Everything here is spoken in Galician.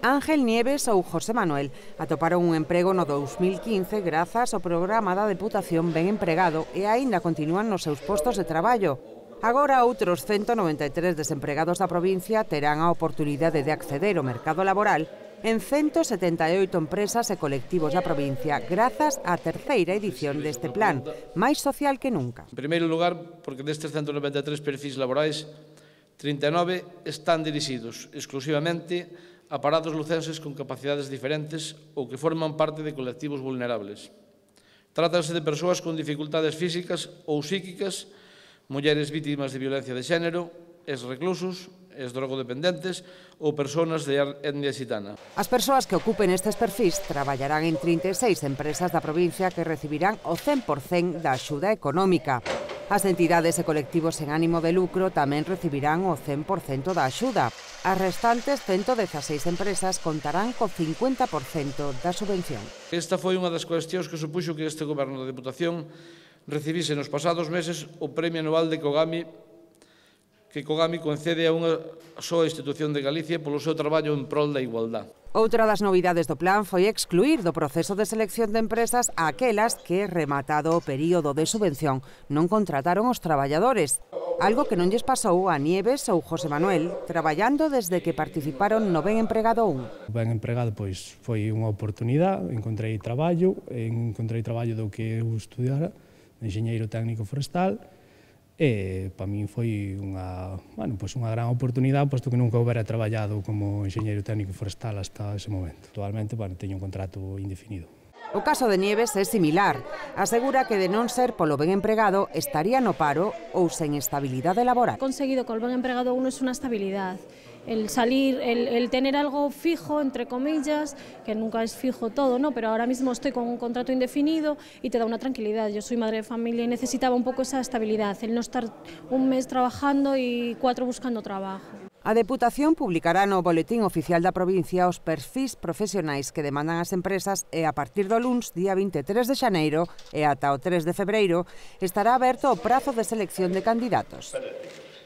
Ángel Nieves ou José Manuel atoparon un emprego no 2015 grazas ao programa da Deputación Ben Empregado e aínda continúan nos seus postos de traballo. Agora outros 193 desempregados da provincia terán a oportunidade de acceder ao mercado laboral en 178 empresas e colectivos da provincia grazas á terceira edición deste plan, máis social que nunca. En primeiro lugar, porque destes 193 perfis laborais, 39 están dirixidos exclusivamente a parados lucenses con capacidades diferentes ou que forman parte de colectivos vulnerables. Trátase de persoas con dificultades físicas ou psíquicas, mulleres vítimas de violencia de xénero, ex-reclusos, ex-drogodependentes ou persoas de etnia xitana. As persoas que ocupen estes perfis traballarán en 36 empresas da provincia que recibirán o 100% da axuda económica. As entidades e colectivos sen ánimo de lucro tamén recibirán o 100% da axuda. As restantes 116 empresas contarán co 50% da subvención. Esta foi unha das cuestións que supuxo que este Goberno da Deputación recibise nos pasados meses o Premio Anual de Cogami, que Cogami concede a unha soa institución de Galicia polo seu traballo en prol da igualdade. Outra das novidades do plan foi excluir do proceso de selección de empresas a aquelas que, rematado o período de subvención, non contrataron os traballadores, algo que non lles pasou a Nieves ou José Manuel, traballando desde que participaron no Ben Empregado 1. O Ben Empregado pois foi unha oportunidade, encontrei traballo do que eu estudiara, enxeñeiro técnico forestal, e para min foi unha gran oportunidade, posto que nunca houbera traballado como enxeñeiro técnico forestal hasta ese momento. Actualmente teño un contrato indefinido. O caso de Nieves é similar. Asegura que de non ser polo Ben Empregado estaría no paro ou sen estabilidade laboral. Conseguido que el Ben Empregado 1 es una estabilidad. El salir, el tener algo fijo, entre comillas, que nunca es fijo todo, ¿no? Pero ahora mismo estoy con un contrato indefinido y te da una tranquilidad. Yo soy madre de familia y necesitaba un poco esa estabilidad, el no estar un mes trabajando y 4 buscando trabajo. A Deputación publicará no Boletín Oficial da provincia os perfis profesionais que demandan as empresas e a partir do luns, día 23 de xaneiro e ata o 3 de febreiro, estará aberto o prazo de selección de candidatos.